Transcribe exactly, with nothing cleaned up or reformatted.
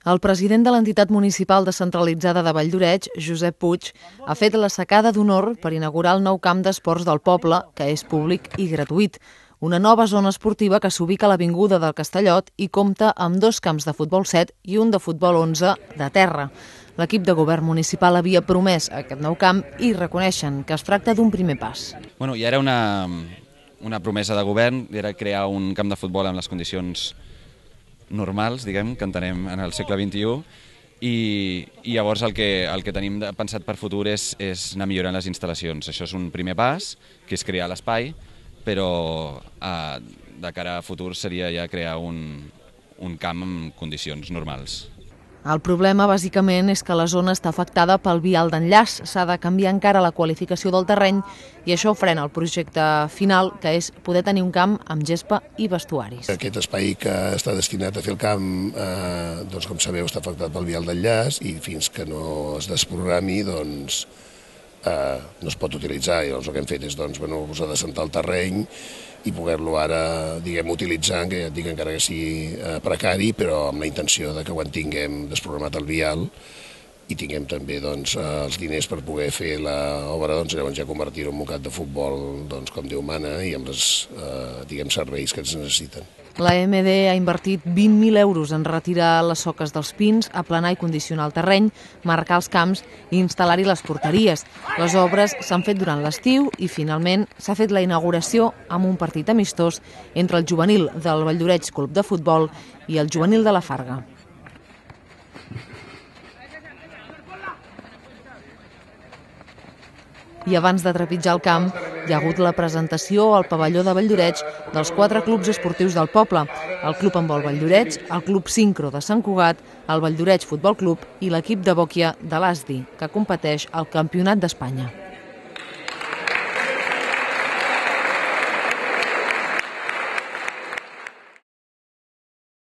El president de l'entitat municipal descentralitzada de Valldoreix, Josep Puig, ha fet la sacada d'honor per inaugurar el nou camp d'esports del poble, que és públic i gratuït. Una nova zona esportiva que s'ubica a l'avinguda del Castellot i compta amb dos camps de futbol set i un de futbol onze de terra. L'equip de govern municipal havia promès aquest nou camp i reconeixen que es tracta d'un primer pas. Bueno, ja era una, una promesa de govern, era crear un camp de futbol amb les condicions normals, diguem, que entenem en el segle vint-i-u, i, i llavors el que, el que tenim pensat per futur és, és anar millorant les instal·lacions. Això és un primer pas, que és crear l'espai, però eh, de cara a futur seria ja crear un, un camp en condicions normals. El problema, bàsicament, és que la zona està afectada pel vial d'enllaç. S'ha de canviar encara la qualificació del terreny i això frena el projecte final, que és poder tenir un camp amb gespa i vestuaris. Aquest espai que està destinat a fer el camp, eh, doncs, com sabeu, està afectat pel vial d'enllaç i fins que no es desprogrami, doncs, eh, no es pot utilitzar. I doncs, el que hem fet és doncs, bueno, posar de sentar el terreny i poder-lo ara, diguem, utilitzar, que ja et dic encara que sigui eh, precari, però amb la intenció de que quan tinguem desprogramat el vial i tinguem també doncs, eh, els diners per poder fer l'obra, doncs, llavors ja convertir-ho en un camp de futbol doncs, com Déu mana i amb els eh, diguem, serveis que ens necessiten. La M D ha invertit vint mil euros en retirar les soques dels pins, aplanar i condicionar el terreny, marcar els camps i instal·lar-hi les porteries. Les obres s'han fet durant l'estiu i finalment s'ha fet la inauguració amb un partit amistós entre el juvenil del Valldoreix Club de Futbol i el juvenil de la Farga. I abans de trepitjar el camp, hi ha hagut la presentació al pavelló de Valldoreix dels quatre clubs esportius del poble, el Club Handbol Valldoreix, el Club Sincro de Sant Cugat, el Valldoreix Futbol Club i l'equip de bòquia de l'A S D I, que competeix al Campionat d'Espanya.